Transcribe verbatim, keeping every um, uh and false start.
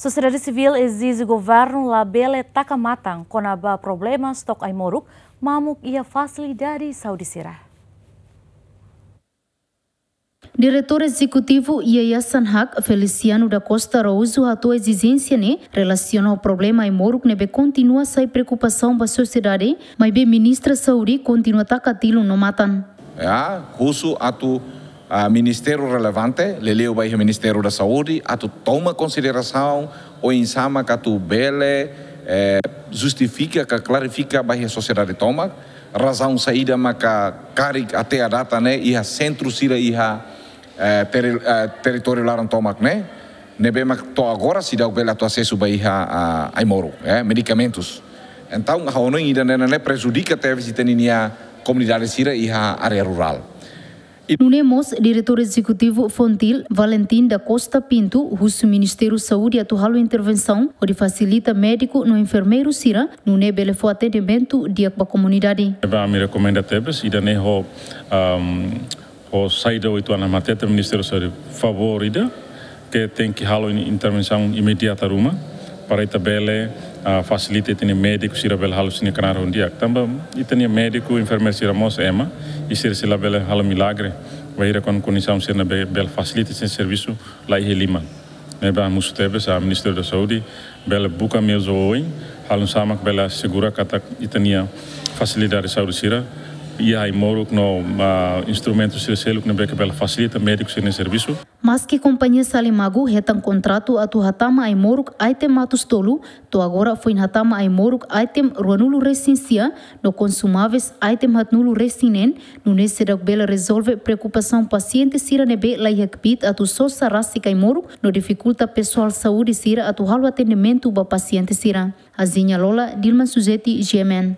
Sosiedade sivíl ezije governu labele taka matan kona-ba problema stok ai-moruk mamuk iha fasilidade saúde sira. Diretór Ezekutivu Yayasan Hak, Feliciano da Costa Araújo, hato'o ezijénsia ne'e relasiona ho problema ai-moruk ne'ebé kontinua sai preokupasaun ba sosiedade, maibé Ministra Saúde kontinua taka tilun no matan. Ya, husu atu, ah, ministériu relevante, liuliu ba iha Ministériu da Saúde, atu toma konsiderasaun oinsá mak atu bele, eh, justifika ka klarifika ba iha sosiedade tomak razaun saida maka karik até à data ne'e iha sentru sira iha, eh, teri-, eh, territóriu laran tomak ne'e, ne'ebé mak to'o agora seidauk bele atu asesu ba iha, ah, ai-moruk, eh, medikamentus. Entaun, ha'u hanoin ida-ne'e ne'e prejudika tebes ita-nia komunidade sira iha área rurál. Nune'e mós, Diretór Ezekutivu FONGIL, Valentim da Costa Pinto, husu Ministériu Saúde atu halo intervensaun hodi fasilita médiku no enfermeiru sira, nune'e bele fó atendimentu di'ak ba komunidade. Ne'ebé ami rekomenda tebes, ida-ne'e ho, am, ho saida uitoan ami hatete Ministériu Saúde favór ida, ke tenke halo in-, intervensaun imediata ruma, para ita bele, ah, fasilita ita-nia médiku sira bele halo sira-nia knaar ho di'ak. Tanba ita-nia médiku, enfermeiru sira mós ema, i sira sei la bele halo milagre, bainhira kon-, kondisaun sira ne'ebé bele fasilita sira-nia servisu la iha liman. Ne'ebé ami husu tebes ba Ministériu da Saúde, bele buka meius oioin, halo oinsá mak bele asegura katak ita-nia fasilidade saúde sira iha ai-moruk no, ah, instrumentu sira seluk ne'ebé ke bele fasilita médiku sira-nia servisu. Maski kompañia Salimagu hetan kontratu atu hatama ai-moruk item atus tolu, to'o agora foin hatama ai-moruk item ruanulu resin sia, no konsumáveis item haatnulu resin neen, nune'e seidauk bele rezolve preokupasaun pasiente sira ne'ebé la iha kbiit atu sosa rasik ai-moruk, no difikulta pesoál saúde sira atu halo atendimentu ba pasiente sira. Aziña Lola, Dilma Suzeti, G M N.